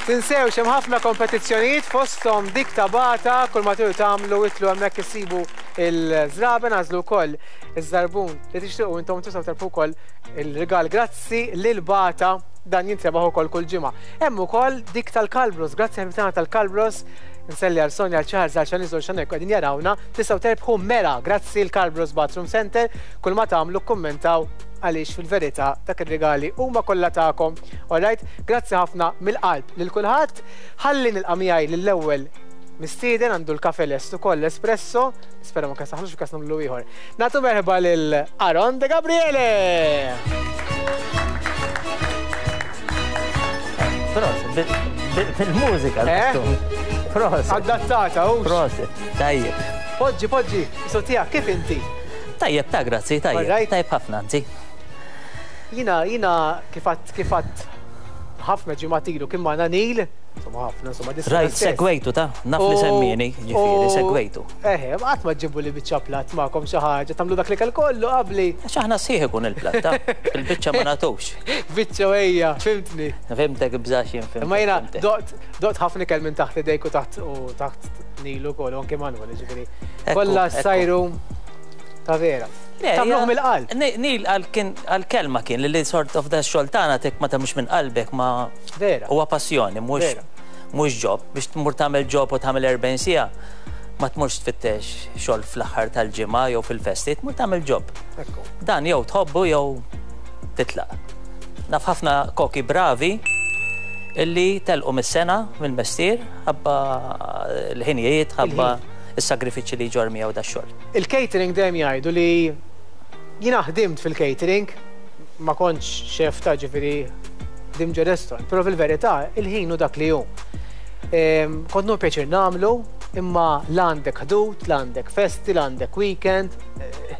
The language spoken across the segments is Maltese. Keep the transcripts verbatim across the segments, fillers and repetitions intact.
Tinsewx hemm ħafna kompetizzjonijiet fosthom dik ta' Bata, kull ma tridu tagħmlu idħlu hemmhekk issibu il-żraben, għażlu wkoll iż-żarbun li tixtiequ intom, tistgħu terbħu wkoll il-rigal. Grazzi lil Bata, dan jintrebaħ ukoll kull ġimgħa. Hemm ukoll dik tal-Kalbros, grazzi ħabib tagħna tal-Kalbros, nselli għal Sonja, għal Charles, għal Xaniz, xanek qegħdin jarawna, tistgħu terbħu mera, grazzi l-Kalbros Bathroom Center, kull ma tagħmlu kummentaw għaliex fil-verità dak ir-rigali huma kollha tagħkom. Alright, grazzi ħafna mill-qalb lil kulħadd. Ħalli nilqa' miegħi lill-ewwel mistieden, għandu l-kafe lest ukoll, l-espresso, nispera ma kasaħlux f'każ nagħmlu ieħor. Nagħtu merħba lil Aaron De Gabriele! Prosit, bil-mużika. Eh? Prosit. Adattata, hux. Prosit, tajjeb. Poġġi, poġġi, sotija, kif inti? Tajjeb ta' grazzi, tajjeb. Alright. Tajjeb ħafna, anzi. Jina, jina kifat, kifat ħafna ġimgħat ilu kien magħna Neil, insomma ħafna, insomma dis Rajt, segwejtu ta' naf li U- semmini, ġifieri, u- segwejtu. Eħe, qatt ma ġibu li biċċa platt magħkom xi ħaġa, tagħmlu dak li kell kollu qabli. Għax aħna sieħ ikun il-platta, il-biċċa ma nagħtux. Biċċa ejja, fimtni. Fimtek bżax jien fimtek. Imma jiena fimtek. doqt doqt ħafna ikel minn taħt idejk u taħt u taħt Neil ukoll, u anke Manuel, ġifieri. Ekku, Kollha ekku. sajru ta' vera. Le, Tagħmluh hija- mill-qalb. Ni- Neil għal kien għal-kelma kien li li sort of da xogħol tek ma tagħmlux minn qalbek ma Vera. huwa passjoni, mhux Vera. mhux job. Biex tmur tagħmel job u tagħmel erbgħin siegħa, ma tmurx tfittex xogħol fl-aħħar tal-ġimgħa jew fil-festi, tmur tagħmel job. Ekku. Dan jew tħobbu jew titlaq. Naf ħafna koki bravi illi telqu mis-sena mill-mestier ħabba l-ħinijiet, ħabba is-sagrifiċċji li ġor miegħu da xogħol. Il-catering dejjem jgħidu li jiena ħdimt fil-catering, ma kontx chef ta' ġifieri ħdimt ġo restaurant, però fil-verità il-ħin hu dak li hu. Ehm, Kont nieħu pjaċir nagħmlu, imma l-għandek ħdud, l-għandek festi, l-għandek weekend, eh,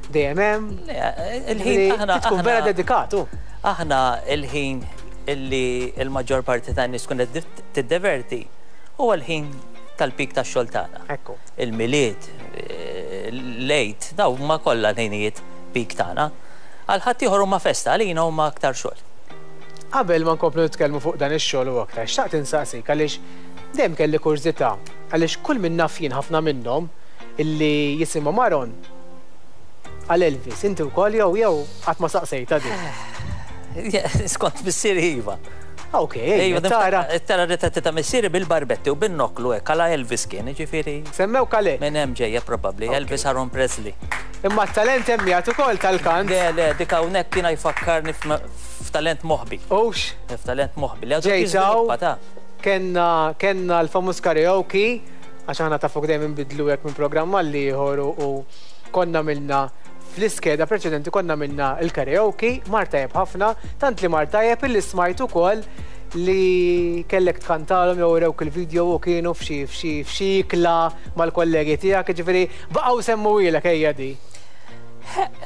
dejjem hemm. Le, il-ħin Ġifieri, aħna tkun vera aħna- dedikatu. Aħna il-ħin illi il-maġġor parti tan nies tkun qed tiddeverti huwa l-ħin tal-pik tax-xogħol tagħna. Ekku. Il-Milied, eh, l-Għid, daw huma kollha l-ħinijiet pik tagħna. Għal ħadd ieħor huma festa, għalina huma aktar xogħol. Qabel ma nkomplu nitkellmu fuq dan ix-xogħol u aktar, xtaqt insaqsik għaliex dejjem kelli kurżità għaliex kull min naf jien ħafna minnhom illi jisimhom Aaron għal Elvis, inti wkoll jew jew qatt ma saqsejta din. Skont missieri iva. Ok, ejja, tara. Tara ritratti ta' missieri bil-barbetti u bin-noklu hekk għala Elvis kien, ġifieri. Semmew kale. Minn hemm ġejja probabbli, Elvis Aaron Presley. Imma t-talent hemm jagħtu ukoll tal-kant. Le, le, dik hawnhekk kien jfakkarni f'talent moħbi. Ux, F'talent moħbi. Li għadu Ġejtaw. jiżviluppa ta' kenna kenna l-famuż karaoke, għax aħna ta' fuq dejjem inbidlu hekk minn programm għal ieħor u u konna milna fl-iskeda preċedenti konna minna il-karaoke, mar tajjeb ħafna, tant li mar tajjeb illi smajt ukoll li kellek tkantalhom jew urewk il-video u kienu f'xi f'xi f'xi ikla mal-kollegi tiegħek, ġifieri baqgħu semmuhielek ejja di.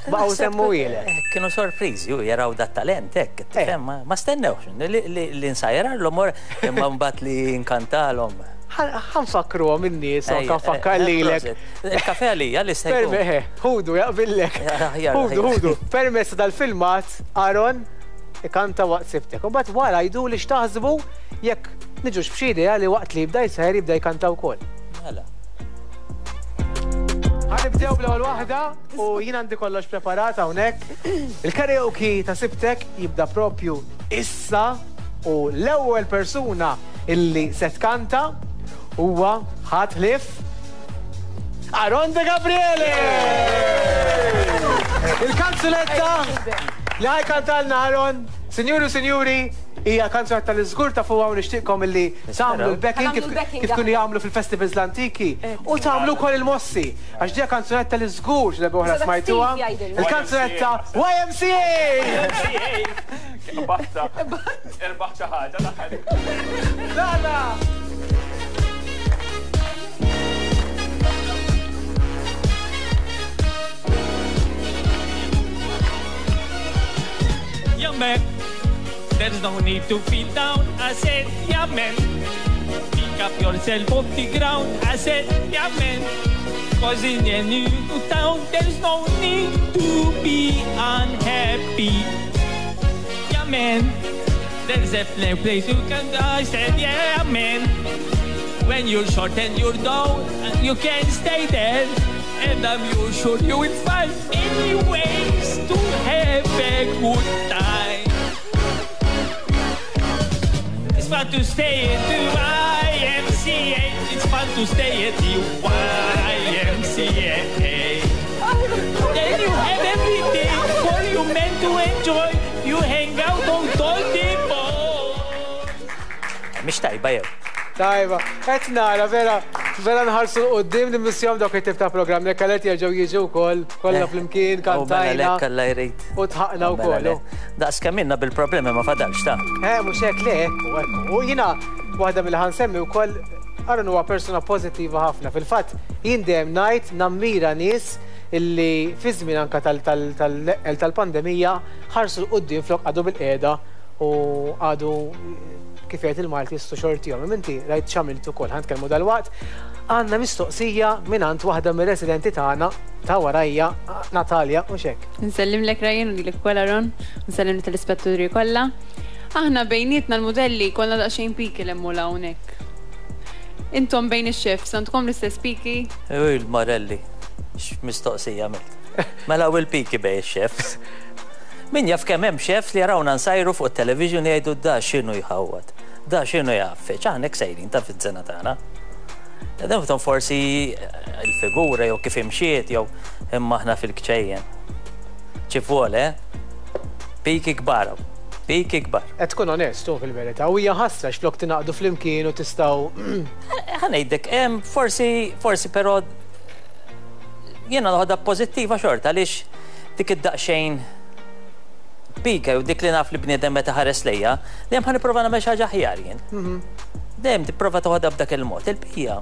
Baqgħu semmuhielek. Kienu sorpriżi u jaraw dat talent hekk, tifhem, ma- ma stennewx li li li nsajjarlhom imma mbagħad li nkantalhom. Ħa nfakkruhom in-nies, anke nfakkar lilek. Il-kafe għalija li se jkun. Perme, ħudu, jaqbillek. Aħjar, Ħudu, aħjar. ħudu. Permezz dal-filmat, Aaron ikanta waqt sibtek. U mbagħad wara jdu li x'taħsbu jekk niġux b'xi idea li waqt li jibda jsajjar jibda jkanta wkoll. Mela. Ħa nibdew bl-ewwel waħda u jien għandi kollox preparat hawnhekk. Il-karaoke ta' sibtek jibda propju issa u l-ewwel persuna illi se tkanta huwa ħadd ħlief Aaron De Gabriele! Il-kanzunetta li ħa jkantalna Aaron, sinjuri u sinjuri, hija kanzunetta li żgur ta' fuqha u nixtieqkom illi tagħmlu l-backing kif Ħa nagħmlu l-backing, kif kienu jagħmlu fil-festivals l-antiki u tagħmlu wkoll il-mossi għax dija kanzunetta li żgur xi darba oħra Issa dak smajtuha. Steve jgħidilna. Il-kanzunetta Y M C A! Batta. Irbaħ xi ħaġa l-aħħar. Lala! Yeah, man. There's no need to feel down. I said, yeah, man. Pick up yourself off the ground. I said, yeah, man. 'Cause in a new town, there's no need to be unhappy. Yeah, man. There's a place you can go. I said, yeah, man. When you're short and you're down, you can stay there. And I'm sure you will find many ways to have a good time. It's fun to stay at the Y M C A. It's fun to stay at the Y M C A. Then you have everything for you men to enjoy. You hang out on all the boys. Mhix tajba jew? Tajba, qed nara vera, vera nħarsu 'l quddiem nimmissjahom dawk it-tip ta' programm li kallet jerġgħu jiġu wkoll, kollha flimkien, U mela kantajna lek Alla jrid. U dħakna Mela wkoll. le. Daqs kemm ilna bil-problemi ma fadalx ta' Eh, mhux hekk le, ekku, ekku. U jiena waħda mill ħansemmi wkoll, Aaron huwa persuna pożittiva ħafna. Fil-fatt, jien dejjem ngħid nammira nies illi fi żmien anka tal- tal-pandemija ħarsu 'l quddiem flok għadu bil-qiegħda u għadu, kif jgħid il-Malti, jistu xortihom. Inti rajt x'għamilt ukoll, ħa nitkellmu dalwaqt. Għandna mistoqsija mingħand waħda mir-residenti tagħna ta' warajja, Natalia, u xek. Nsellimlek Ryan u lilek ukoll Aaron, nsellim telespettaturi kollha. Aħna bejnietna l-modelli kollha daqsxejn piki l-emmula hawnhekk. Intom bejn ix-chefs għandkom l-istess piki? U il-Morelli, x'mistoqsija għamilt. Mela u l-piki bejn ix-chefs. Min jaf kemm hemm chefs li jarawna nsajru fuq it-television jgħidu, "Da x'inhu jħawwad, da x'inhu jgħaffeġ," aħna hekk sejrin ta' fiż-żena tagħna. Dan forsi eh, il-figura jew kif imxiet jew imma aħna fil-kċejjen. Ċifuole, eh? Piki kbar, piki kbar. Qed tkun onestu fil-verità, u hija ħasra x'lok tingħaqdu flimkien u tistgħu Ħa ngħidlek, em, forsi, forsi però jiena noħodha pożittiva xorta, għaliex dik id-daqsxejn pika u dik li naf li bniedem meta ħares lejja, dejjem ħa nipprova nagħmel xi ħaġa aħjar jien. Dejjem tipprova toħodha b'dak il-mod. Il-bqija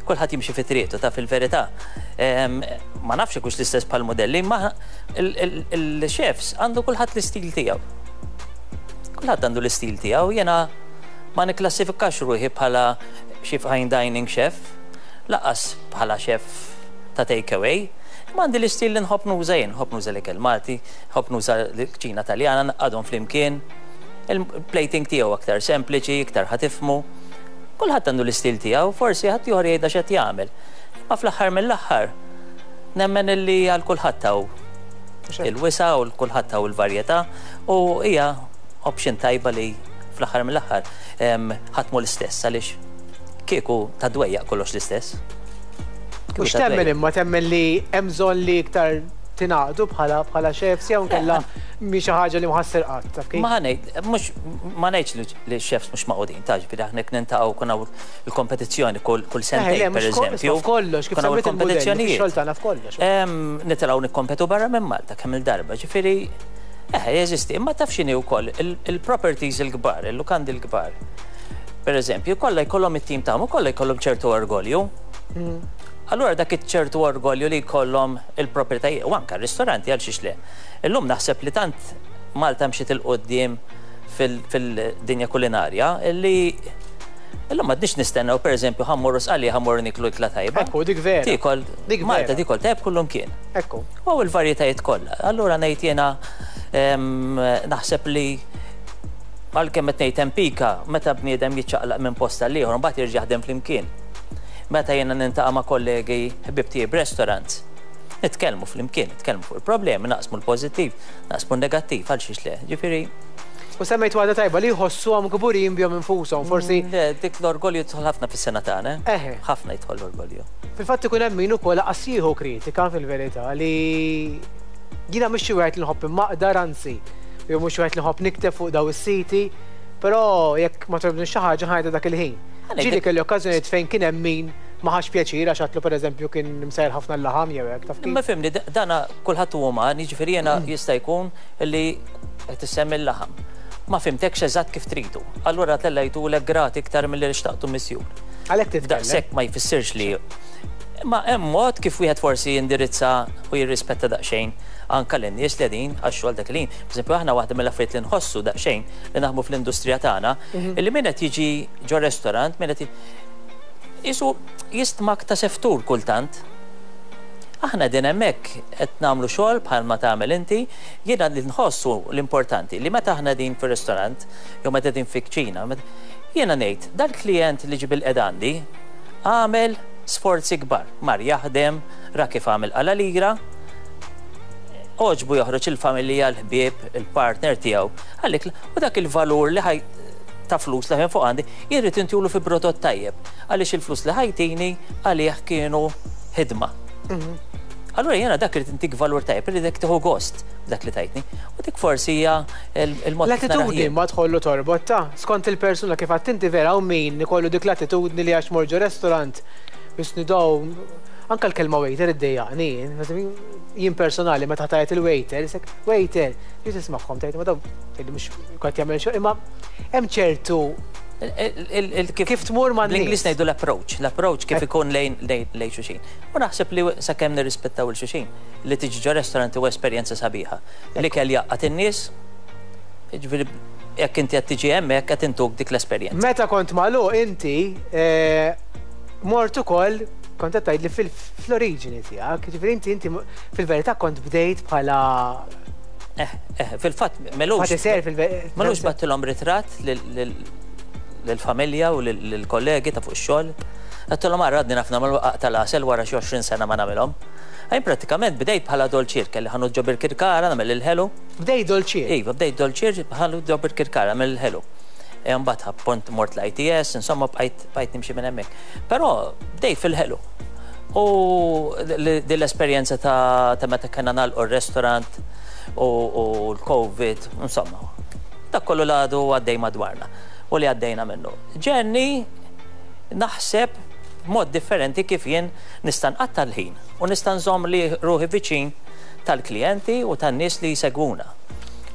kulħadd jimxi fi triqtu ta' fil-verità. Em, Ma nafx hux l-istess bħal modelli, ma il-chefs għandu kulħadd l-istil tiegħu. Kulħadd għandu l-istil tiegħu, jiena ma nikklassifikax ruħi bħala xi fine dining chef, lanqas bħala chef ta' takeaway. Ma għandi l-istil li nħobb nuża jien, nħobb nuża l-ikel Malti, nħobb nuża l-kċina Taljana, ngħaqqadhom flimkien. Il-plating tiegħu aktar sempliċi, iktar ħa tifhmu. Kulħadd għandu l-istil tiegħu, forsi ħadd ieħor jgħidha x'qed jagħmel. Ma fl-aħħar mill-aħħar, nemmen illi għal kulħadd hawn il-wisa u kulħadd hawn il-varjetà u hija option tajba li fl-aħħar mill-aħħar em, ħadd mhu l-istess, għaliex kieku ta' dwejjaq kollox l-istess. U x'temmen, imma temmen li hemm bżonn li iktar tingħaqdu bħala bħala chefs jew nkella mhi xi ħaġa li mħassir qatt, taf kif? Ma ħa ngħid, mhux ma ngħidx li- li x-chefs mhux magħqudin, ta' ġifieri aħna jekk niltaqgħu kun hawn il-kompetizzjoni kull kull sentejn, per eżempju. F'kollox, kif kun hawn semmejt il-modelli, il-kompetizzjonijiet. Fix-xogħol tagħna f'kollox. Em, Nitilgħu nikkompetu barra minn Malta kemm il-darba, ġifieri eh, jeżisti, imma taf x'inhi wkoll il- il-properties il-kbar, il-lukandi l-kbar. Per eżempju, kollha jkollhom it-tim tagħhom u kollha jkollhom ċertu orgolju. Allura dak iċ-ċertu orgolju li jkollhom il-proprjetajiet u anke r-ristoranti, għal xiex le. Illum naħseb li tant Malta mxiet 'il quddiem fil-dinja kulinarja illi illum m'għadniex nistennew, per eżempju, ħa mmorru Sqallija, ħa mmorru niklu ikla tajba. Ekku, dik vera. Tikol, Dik Malta vera. tikol tajb kullum kien. Ekku. U il-varjetajiet kollha. Allura ngħid jiena em, naħseb li għalkemm qed ngħid hemm pika, meta bniedem jiċċaqlaq minn post għal ieħor mbagħad jerġa' jaħdem flimkien. Meta jiena niltaqa' ma' kollegi ħbib tiegħi b'restaurants, nitkellmu flimkien, nitkellmu fuq il-problemi, naqsmu l-pożittiv, naqsmu l-negattiv, għal xiex le. Ġifieri, U semmejt waħda tajba li jħossuhom kburin bihom infushom, forsi le, dik l-orgolju jidħol ħafna fis-sengħa tagħna. Eħe. Ħafna jidħol l-orgolju. Fil-fatt ikun hemm min ukoll lanqas jieħu kritika fil-verità, li jiena mhux xi wieħed li nħobb immaqdar, anzi, jew mhux wieħed li nħobb nikteb fuq daw is-siti, però jekk ma togħġobni xi ħaġa ħajda dak il-ħin. Għalek Ġieli dik- kelli okkażjonijiet fejn kien hemm min ma ħax pjaċir għax għatlu, pereżempju, kien msejr ħafna l-laħam jew hekk, taf kif. Ma fimni, dana kulħadd huwa uman, jiġifieri jiena jista' jkun li qed issemmi l-laħam. Ma fhimtekx eżatt kif tridu. Allura tellajtulek grat iktar milli xtaqtu misjur. Għalhekk titkellem. Daqshekk ma jfissirx li. Ma hemm mod kif wieħed forsi jindirizza u jirrispetta daqsxejn anka lin-nies li qegħdin għax-xogħol dak il-ħin. Per aħna waħda mill-affarijiet li nħossu daqsxejn li naħdmu fl-industrija tagħna, illi min qed jiġi ġo restaurant, min qed jisu jistmak ta' seftur kultant. Aħna din hemmhekk qed nagħmlu xogħol bħalma tagħmel inti, jiena li nħossu l-importanti li meta aħna din fir-ristorant jew meta din fi kċina, jiena ngħid dal-klijent li ġie bilqiegħda għandi għamel sforzi kbar, mar jaħdem, ra kif għamel qala lira, għoġbu joħroġ il-familja, l-ħbieb, il-partner tiegħu. Għalik, u dak il-valur li ħaj ta' flus li ħen fuq għandi, jirrid intulu fi prodott tajjeb, għaliex il-flus li ħajtini għalih kienu ħidma. Allura jena dak irid intik valur tajjeb, iridek tieħu gost dak li tajtni. U dik forsi hija il-mod. L-attitudni ma tħollu torbot ta' skont il-persuna kif għadt inti vera u min ikollu dik l-attitudni li għax morġu restaurant biex nidaw anka l-kelma waiter iddejjaqni. Jien personali meta tajt il-waiter, isek waiter, jien tismagħhom tgħid ma daw tgħid mhux qed jagħmel xogħol, imma hemm ċertu kif tmur ma' l-Ingliż ngħidu l-approach, l-approach kif ikun lejn lejn xulxin. U naħseb li sakemm nirrispettaw il xulxin li tiġi ġo restaurant huwa esperjenza sabiħa. Li kell jaqgħad in-nies, jiġifieri jekk inti qed tiġi hemmhekk qed intuk dik l-esperjenza. Meta kont magħluq inti mort ukoll kont qed tgħidli fl-oriġini tiegħek, jiġifieri inti inti fil-verità kont bdejt bħala Eh, eh, fil-fatt melux. Melux battilhom ritratt lill-familja u lill-kollegi ta' fuq ix-xogħol. Għedtilhom ara għadni naf nagħmel waqaq tal-għasel wara xi għoxrin sena ma nagħmilhom. Għajn pratikament bdejt bħala dolċier, kelli ħanut ġo Birkirkara nagħmel il-ħelu. Bdejt dolċier? Iva, bdejt dolċier ħanut ġo Birkirkara nagħmel il-ħelu. Mbagħad pont mort l-I T S, insomma bqajt nimxi minn hemmhekk. Però bdejt fil-ħelu. U din l-esperjenza ta' meta kellna nagħlqu r-restaurant u l-Covid, insomma, dak kollu l-għadu għaddej madwarna u li għaddejna minnu. Ġenni naħseb mod differenti kif jien nista' nqatta' l-ħin u nista' nżomm li ruħi viċin tal-klijenti u tan-nies li jsegwuna.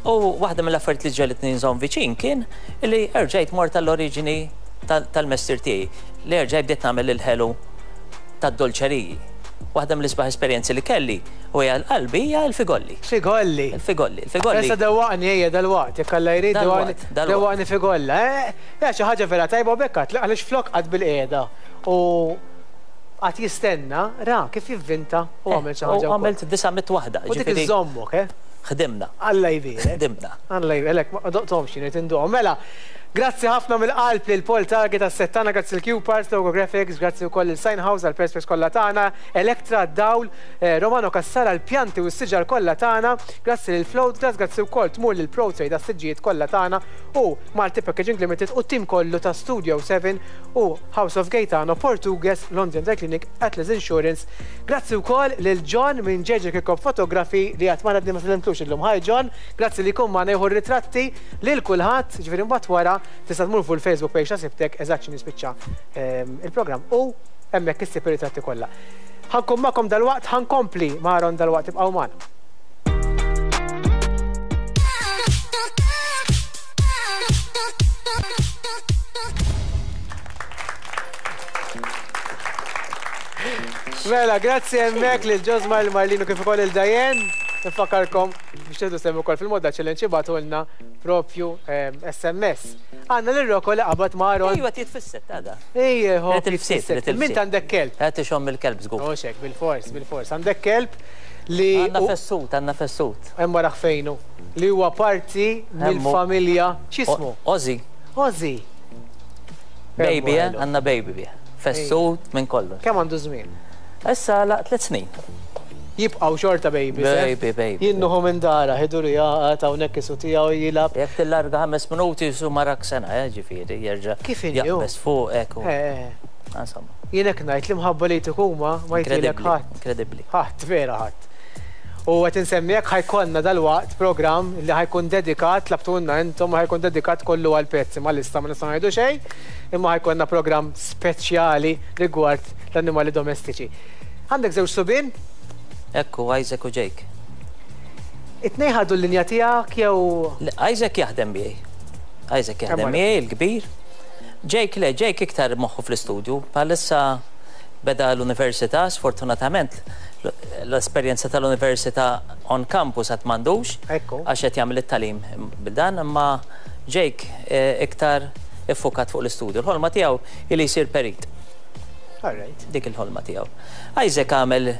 U waħda mill-affarijiet li ġelitni nżomm viċin kien li erġajt mort tal-oriġini tal-mestier tiegħi, li erġajt bdiet nagħmel il-ħelu tad-dolċeriji. Waħda mill-isbaħ esperjenzi li kelli u hija l-qalbi hija l-figolli. Figolli. Il-figolli, il-figolli. Issa dewwaqni ejja dalwaqt, jekk Alla jrid dewwaqni figolla. Eh, xi ħaġa vera tajba u bekkat għaliex flok qatt bil-qiegħda u qatt jistenna ra kif jivvinta u għamel xi ħaġa. U għamilt disa' mitt waħda. U dik iżommok, eh? Ħdimna. Alla jbierek. Ħdimna. Alla jbierek, ma doqthomx jien qed induqhom. Mela, grazzi ħafna mill-qalb lil Paul Target għas-settana, grazzi l-Q-Parts, Logo Graphics, grazzi wkoll il Sign House għall-Perspex kollha tagħna, Electra Dawl, Romano Cassara l-pjanti u s-siġar kollha tagħna, grazzi lil Float Glass, grazzi wkoll tmur lil Pro Trade għas-siġġijiet kollha tagħna u Malti Packaging Limited u tim kollu ta' Studio seven u House of Gaetano, Portugues, London Dry Clinic, Atlas Insurance. Grazzi wkoll lil John minn J J Kirkop Photography li qatt ma għadni ma sellimtlux illum. Hi John, grazzi li jkun magħna jieħu r-ritratti lil kulħadd, ġifieri mbagħad wara tista' tmur fuq il-Facebook page ta' Sibtek eżatt xi nispiċċa il-programm u hemmhekk issib ir-ritratti kollha. Ħankun magħkom dalwaqt, ħankompli ma' Aaron dalwaqt, ibqgħu magħna. Mela, grazzi hemmhekk lil Ġosma, lil Marlino kif ukoll il Dajen. Nifakkarkom biex tieħdu sehem ukoll fil-modda challenge ibagħtulna propju S M S. Għandna lil Rocco li qabad ma' Aaron. Ejwa titfisset għada. Ejja, ho. Min għandek kelb? Qed ixomm il-kelb żgur. Mhux hekk, bil-fors, bil-fors. Għandek kelb li għandna fessut, għandna fessut. Hemm wara fejnu li huwa parti mill-familja. X'ismu? Ozzy. Ozzy. Baby, għandna baby bih. Fessut minn kollox. Kemm għandu żmien? Issa la tliet snin. Jibqaw xorta baby. Baby, baby. Jinnuħu minn dara, ħiduru jaqat hawnhekk isu tiegħu jilgħab. Jekk tillarga ħames minuti jisu marak sena, ġifieri jerġa' Kif inhu? Jaqbes fuq hekk. Insomma. Jien hekk ngħid li mħabba li jtuk huma ma jtilek ħadd. Inkredibbli. Ħadd, vera ħadd. U qed insemmijek ħajkonna dalwaqt programm li ħajkun dedikat, tlabtulna intom, ħajkun dedikat kollu għal pezzi, ma lista ma nistgħu ngħidu xejn, imma ħajkonna programm speċjali rigward l-annimali domestiċi. Għandek żewġ subien? Ekku, Isaac u Jake. It-tnejn ħadu l-linja tiegħek jew? Isaac jaħdem miegħi. Isaac jaħdem miegħi, il-kbir. Jake le, Jake iktar moħħu fl-istudju. Bħalissa beda l-università, sfortunatament l-esperjenza tal-università on campus għad m'għandux. Għax qed jagħmel it-tagħlim bil-dan, imma Jake iktar iffukat fuq l-istudju. Il-ħolma tiegħu ili jsir perit. All right. Dik il-ħolma tiegħu. Isaac għamel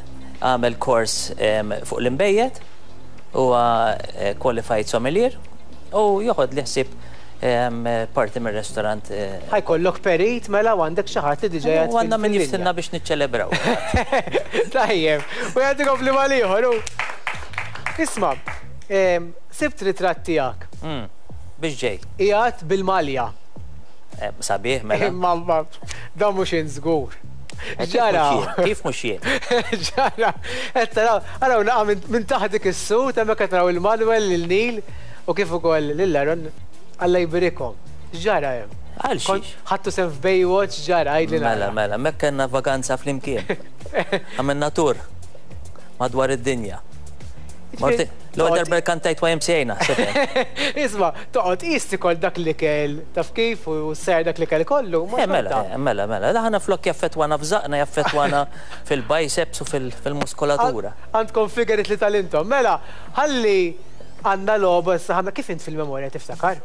Għamel kors fuq l-inbejjed, huwa qualified sommelier u joħod li ħsieb parti mir-restorant. Ħa jkollok perit mela u għandek xi ħadd li diġà U għandna min jiftilna biex niċċelebraw. Tajjeb, u jagħti kompliment ieħor. Isma', sibt ritratt tiegħek. Biex ġej. Qiegħed bil-malja. Sabiħ mela. Imma dan mhux żgur. Ġara. Kif mhux jien? Ġara. Qed taraw, araw naqa' minn taħt dik is-sut hemmhekk qed naraw il-Manuel, lil Neil u kif ukoll lil Aaron. Alla jberikhom. Ġara hemm. Għal xiex? Ħadtu sehem f'Baywatch, ġara, għidli Mela, mela, mek kellna vaganza flimkien. Għamilna tour madwar id-dinja. L-ewwel darba kantajt Y M C A naħseb. Isma', toqgħod qis tikol dak l-ikel, taf kif u ser dak l-ikel kollu. Mela, mela, mela. Aħna flok jaffetwana f'żaqna, jaffetwana fil-biceps u fil-muskolatura. Għandkom figurit li talintom. Mela, ħalli għandna logħba issa ħanna kif int fil-memorja tiftakar?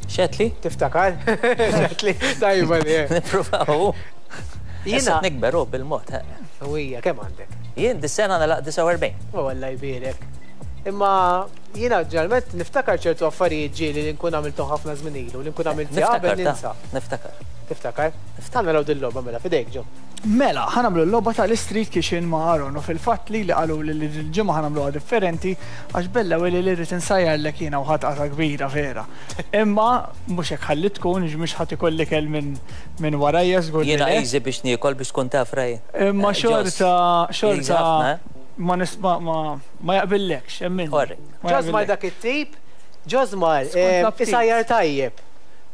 Xetli? Tiftakar? Xetli, tajba li. Nippruvaw. Jiena nikberu bil-mod. Ija, kemm għandek? Jien dis-sena nagħlaq disgħa u erbgħin. U Alla jbierek. Imma jiena ġeneralment niftakar ċertu affarijiet ġieli li nkun għamiltu ħafna żmien ilu, li nkun għamilt qabel ninsa. Niftakar. Tiftakar? Ħa naraw dil-logħba mela fidejk ġo. Mela, ħa nagħmlu l-logħba tal-Street Kitchen ma' Aaron u fil-fatt li li qalu li l-ġimgħa ħa nagħmluha differenti għax bella u li li rrid insajjarlek jiena u ħatqata kbira vera. Imma mhux hekk ħalli tkun mhux ħadd ikolli kell minn minn warajja żgur. Jiena easy biex niekol biex tkun taf raj. Imma xorta xorta ma nisma ma ma jaqbillekx, emmin. Ġożmar dak it-tip, Ġożmar isajjar tajjeb.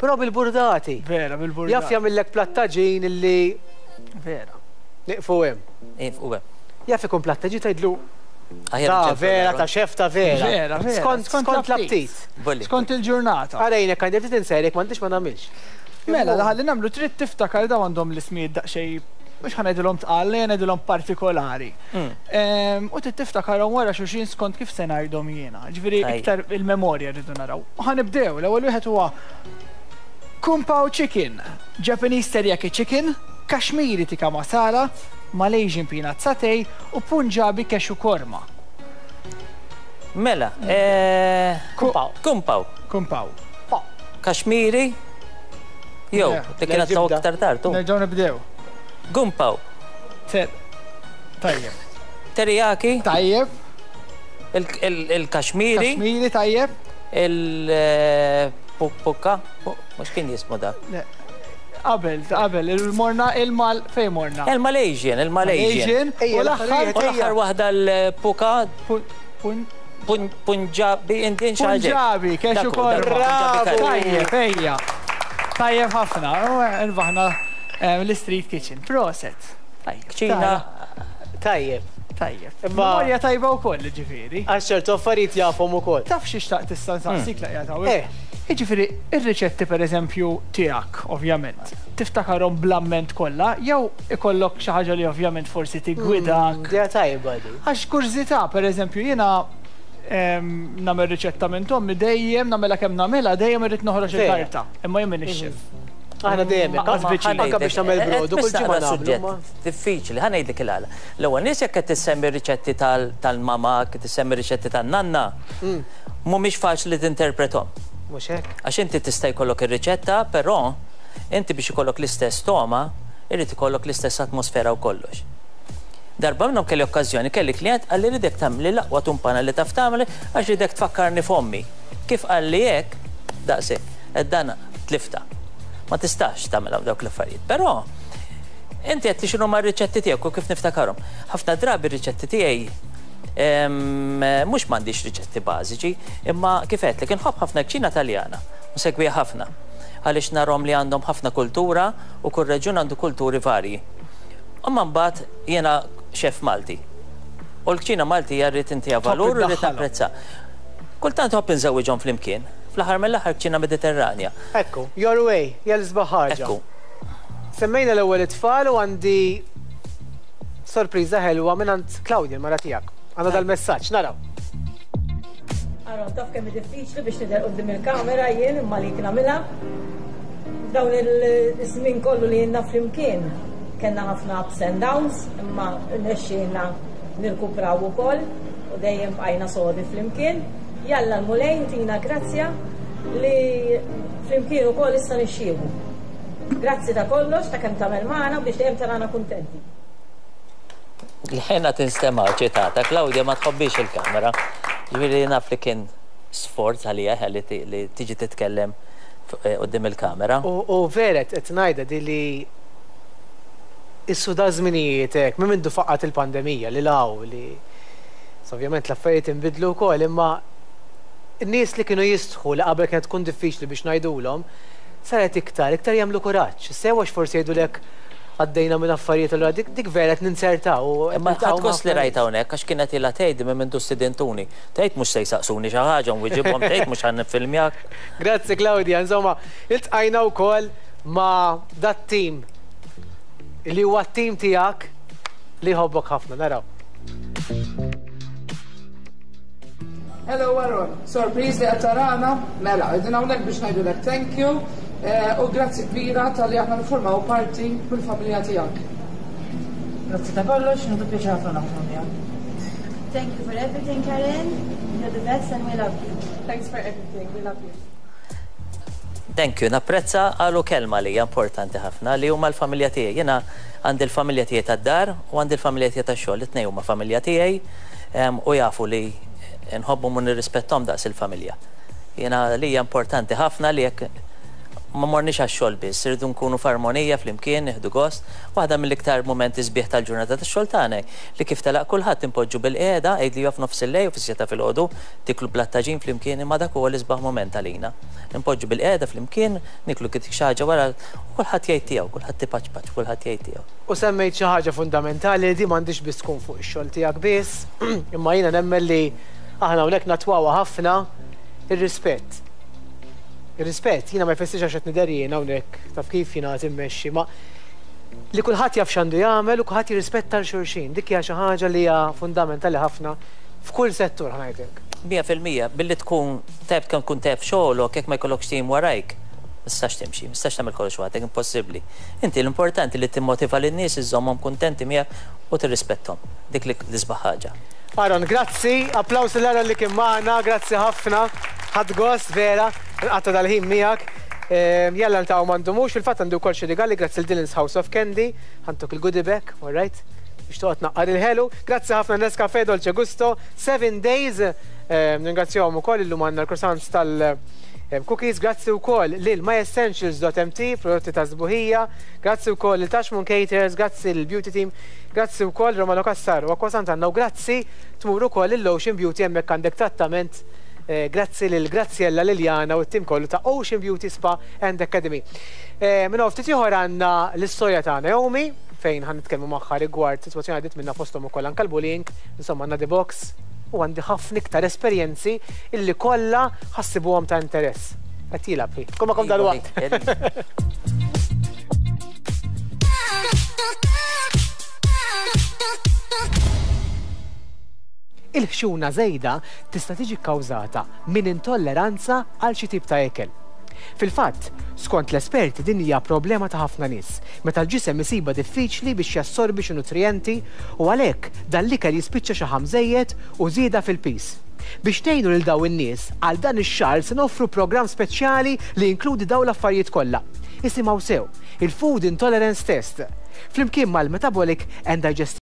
Però bil-burdati. Vera, bil-burdati. Jaf jagħmillek platt taġin illi Vera. Nieqfu hemm. Nieqfu hemm. Jaf ikun platt taġin tgħidlu Ta' vera, ta' xef ta' vera. Vera, vera. Skont skont l-aptit. Skont il-ġurnata. Għarajnek għandi ftit insejrek m'għandix ma nagħmilx. Mela, ħalli nagħmlu trid tiftakar daw għandhom l-ismijiet daqsxejn mhux ħa ngħidilhom tqal, ngħidilhom partikolari. U trid tiftakarhom wara xulxin skont kif se ngħidhom jiena. Ġifieri iktar il-memorja rridu naraw. U ħa nibdew, l-ewwel wieħed huwa Kung Pao Chicken, Japanese Teriyaki Chicken, Kashmiri Tikka Masala, Malaysian Peanut Satay u Punjabi Cashew Korma. Mela, Kung Pao. Kung Pao. Kung Pao. Kashmiri? Jew, dik kienet aktar tard. Nerġgħu nibdew. Kung Pao. Tajjeb. Teriyaki? Tajjeb. Il-Kashmiri? Kashmiri, tajjeb. Il-Pukka? Mux kien jismu da? Qabel, qabel, il-morna, il-mal, fej morna? Il-Malaysian, il-Malaysian. U l-aħħar. U l-aħħar waħda l-Puka. Punjabi, Indian xi ħaġa. Punjabi, cashew korma. Tajjeb, ejja. Tajjeb ħafna, irbaħna l-Street Kitchen. Proset. Kċina. Tajjeb. Tajjeb. Memorja tajba wkoll, ġifieri. Għax ċertu affarijiet jafhom ukoll. Taf xi xtaqt tista' nsaqsik laqja ta' Jiġifieri, ir-riċetti pereżempju tiegħek, ovvjament, tiftakarhom bl-amment kollha, jew ikollok xi ħaġa li ovvjament forsi tiggwidak. Idea tajba di. Għax kurżità, pereżempju, jiena nagħmel riċetta minn tommi dejjem nagħmilha kemm nagħmilha dejjem irrid noħroġ il-karta. Imma jien m'iniex chef. Aħna dejjem anke biex nagħmel brodu kull ġimgħa nagħmlu. Diffiċli, ħa ngħidlek il-għala. L-ewwel nies jekk qed tissemmi riċetti tal-mama, qed tissemmi riċetti tan-nanna, mhumiex faċli tinterpretom. Mhux hekk. Għax inti tista' jkollok ir-riċetta, però inti biex ikollok l-istess toma, irid ikollok l-istess atmosfera u kollox. Darba minnhom kelli okkażjoni, kelli klient qalli ridek tagħmli l-aqwa tumpana li taf tagħmel għax ridek tfakkarni f'ommi. Kif qalli hekk, daqshekk, qed dan tlifta. Ma tistax tagħmel dawk l-affarijiet. Però inti qed li x'inhu r-riċetti tiegħek u kif niftakarhom. Ħafna drabi r-riċetti tiegħi mhux m'għandix riċetti bażiċi, imma kif għedtlek inħobb ħafna kċina Taljana, nsegwiha ħafna. Għaliex narhom li għandhom ħafna kultura u kull reġjun għandu kulturi varji. Imma mbagħad jiena xef Malti. U l-kċina Malti rrid intiha valur u rrid napprezza. Kultant ħobb inżewwiġhom flimkien. Fl-aħħar mill-aħħar kċina Mediterranja. Ekku, your way, jel ħaġa. Ekku. Semmejna l-ewwel it-tfal u għandi sorpriża ħelwa minn għand Claudia, mara tiegħek. Għandna dal-messaġġ, naraw. Aaron, taf kemm diffiċli biex tidher quddiem il-kamera jien imma li nagħmilha. Dawn il-żmien kollu li jiena flimkien, Kellna ħafna ups and downs, imma rnexxielna nirkupraw ukoll u dejjem bqajna sodi flimkien. Jalla l-Mulej tina grazzja li flimkien ukoll issa nixxieħu. Grazzi ta' kollox, ta' kemm tagħmel magħna biex dejjem tarana kuntenti. L-ħena tinstema' ċitata, Claudia ma tħobbix il-kamera. Ġifieri naf li kien sforz għalija li tiġi titkellem quddiem il-kamera. U vera qed ngħidha di li issu da żminijiet hekk, minn mindu faqqat il-pandemija li law li ovvjament l-affarijiet inbidlu wkoll, imma n-nies li kienu jistħu li qabel kienet tkun diffiċli biex ngħidulhom, saret iktar, iktar jagħmlu kuraġġ. Sewa forsi jgħidulek għaddejna minn affarijiet allura dik dik vera qed ninsertaw. Imma ħadd gost li rajt hawnhekk għax kienet ilha tgħid minn mindu stidentuni. Tgħid mhux se jsaqsuni xi ħaġa nwiġibhom, tgħid mhux ħa nifilmjak. Grazzi Claudia, insomma, iltqajna wkoll ma' dat-tim li huwa t-tim tiegħek li jħobbok ħafna, naraw. Hello Aaron, sorpriż li qed tarana, mela, qegħdin hawnhekk biex ngħidulek thank you u grazzi kbira talli aħna nifformaw parti mill-familja tiegħek. Grazzi ta' kollox, nieħdu pjaċir ħafna naħdmu miegħek. Thank you for everything, Karen. You're the best and we love you. Thanks for everything, we love you. Thank you, napprezza għalu kelma li hija importanti ħafna li huma l-familja tiegħi. Jiena għandi l-familja tiegħi tad-dar u għandi l-familja tiegħi tax-xogħol, it-tnejn huma familja tiegħi u jafu li nħobbhom u nirrispettom daqs il-familja. Jiena li hija importanti ħafna li jekk ma morniex għax-xogħol biss, irridu nkunu f'armonija flimkien, nieħdu gost. Waħda mill-iktar mumenti sbieħ tal-ġurnata tax-xogħol tagħna li kif telaq kulħadd impoġġu bil-qiegħda, għid li f'nofs il-lejl u fis-sitta filgħodu tiklu blattaġin flimkien, imma dak huwa l-isbaħ mument għalina. Impoġġu bil-qiegħda flimkien, niklu kif xi ħaġa wara u kulħadd jgħid tiegħu, kulħadd tipaċpaċ, kulħadd jgħid tiegħu. U semmejt xi ħaġa fundamentali li di m'għandix biss tkun fuq ix-xogħol tiegħek biss, imma jiena nemmen li aħna hawnhekk natwawha ħafna ir-rispett. Ir-rispett, jiena ma jfissirx għax qed nidher jien hawnhekk taf kif jiena qed immexxi, ma li kulħadd jaf x'għandu jagħmel u kulħadd jirrispetta l xulxin. Dik hija xi ħaġa li hija fundamentali ħafna f'kull settur ħanajtek. Mija fil-mija, billi tkun tajb kemm tkun tajb xogħolok jekk ma jkollokx tim warajk, ma tistax timxi, ma tistax tagħmel kollox waħdek, impossibbli. Inti l-importanti li timmotiva lin-nies, iżżommhom kuntenti miegħek u tirrispetthom. Dik li l-isbaħ ħaġa. Aaron, grazzi, applaus l-Aaron li kien magħna, grazzi ħafna, ħadd gost vera, nqatta' dal-ħin miegħek. Jalla niltaqgħu m'għandumux, fil-fatt għandu wkoll xi rigali grazzi l Dylan's House of Candy, ħantuk il-goodie bag, all right? Biex toqgħod naqqar il-ħelu. Grazzi ħafna Nescafe Dolce Gusto, seven days, ningrazzjahom ukoll illum għandna l-croissants tal-cookies, grazzi wkoll lil myessentials dot m t, prodotti ta' sbuħija, grazzi wkoll lil Tashmoon Caterers, grazzi lil Beauty Team, grazzi wkoll Romano Cassar u Acqua Sant'Anna u grazzi tmur ukoll lil Ocean Beauty hemmhekk għandek trattament. Grazzi lil Graziella Liliana u t-tim kollu ta' Ocean Beauty Spa and Academy. Minn ftit ieħor għandna l-istorja ta' Naomi fejn ħan nitkellmu magħha rigward sitwazzjoni għadiet minna fosthom ukoll anke l-bullying, insomma għandna the box u għandi ħafna iktar esperjenzi illi kollha ħassibuhom ta' interess. Qed jilgħab hi. Tkun magħkom dalwaqt. Il-ħxuna żejda tista' tiġi kkawżata minn intolleranza għal xi tip ta' ekel. Fil-fatt, skont l-esperti din hija problema ta' ħafna nies, meta l-ġisem isiba diffiċli biex jassorbi xi nutrijenti u għalhekk dan l-ikel jispiċċa xi ħam żejjed u żieda fil-pis. Biex tgħinu lil dawn in-nies, għal dan ix-xahar se noffru programm speċjali li jinkludi dawn l-affarijiet kollha. Isimgħu sew, il-Food Intolerance Test, flimkien mal-Metabolic and Digestive